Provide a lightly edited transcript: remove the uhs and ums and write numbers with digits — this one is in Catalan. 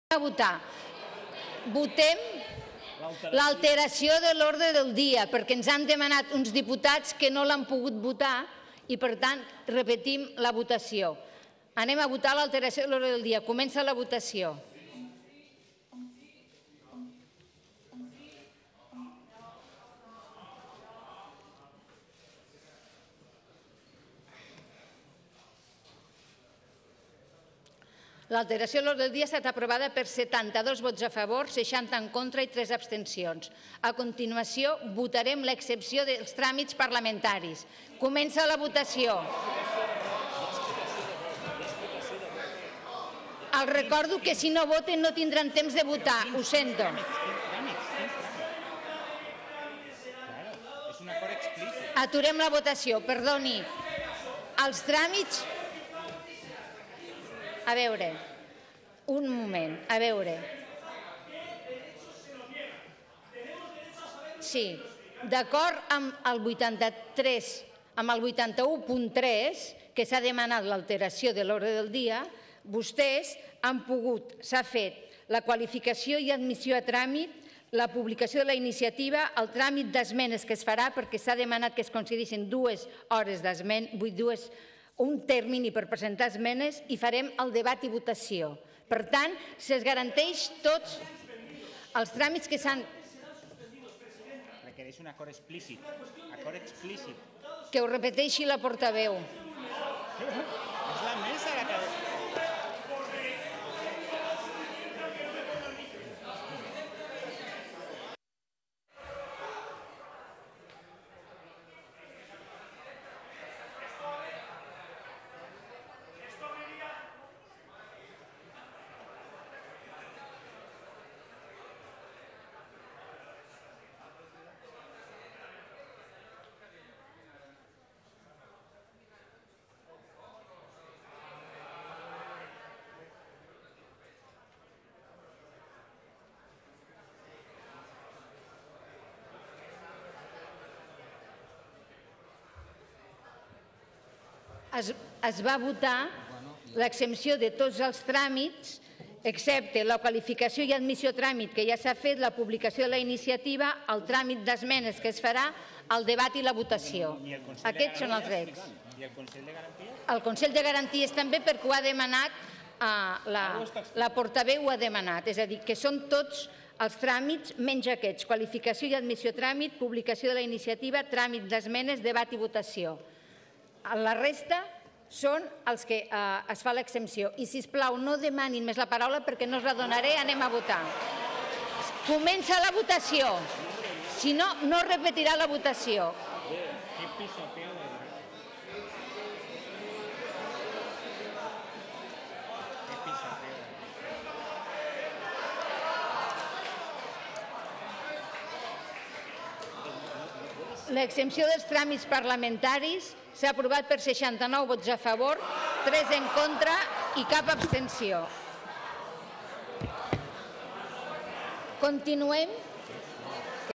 a votar. Votem l'alteració de l'ordre del dia, perquè ens han demanat uns diputats que no l'han pogut votar i, per tant, repetim la votació. Anem a votar l'alteració de l'ordre del dia. Comença la votació. L'alteració de l'ordre del dia ha estat aprovada per 72 vots a favor, 60 en contra i 3 abstencions. A continuació, votarem l'excepció dels tràmits parlamentaris. Comença la votació. Els recordo que si no voten no tindran temps de votar. Ho sento. Aturem la votació. Perdoni. Els tràmits... A veure, un moment, a veure. Sí, d'acord amb el 83, amb el 81.3, que s'ha demanat l'alteració de l'ordre del dia, vostès han pogut, s'ha fet la qualificació i admissió a tràmit, la publicació de la iniciativa, el tràmit d'esmenes que es farà, perquè s'ha demanat que es concedissin 2 hores d'esmenes, un termini per presentar esmenes i farem el debat i votació. Per tant, se'ls garanteix tots els tràmits que s'han... Requereix un acord explícit. Acord explícit. Que ho repeteixi la portaveu. És la mesa la que... Es va votar l'exempció de tots els tràmits, excepte la qualificació i admissió a tràmit, que ja s'ha fet, la publicació de la iniciativa, el tràmit d'esmenes que es farà, el debat i la votació. Aquests són els drets. I el Consell de Garanties? El Consell de Garanties també, perquè ho ha demanat, la portaveu ho ha demanat. És a dir, que són tots els tràmits menys aquests. Qualificació i admissió a tràmit, publicació de la iniciativa, tràmit d'esmenes, debat i votació. La resta són els que es fa l'exempció. I, sisplau, no demanin més la paraula perquè no us la donaré. Anem a votar. Comença la votació. Si no, no repetirà la votació. L'exempció dels tràmits parlamentaris s'ha aprovat per 69 vots a favor, 3 en contra i cap abstenció. Continuem.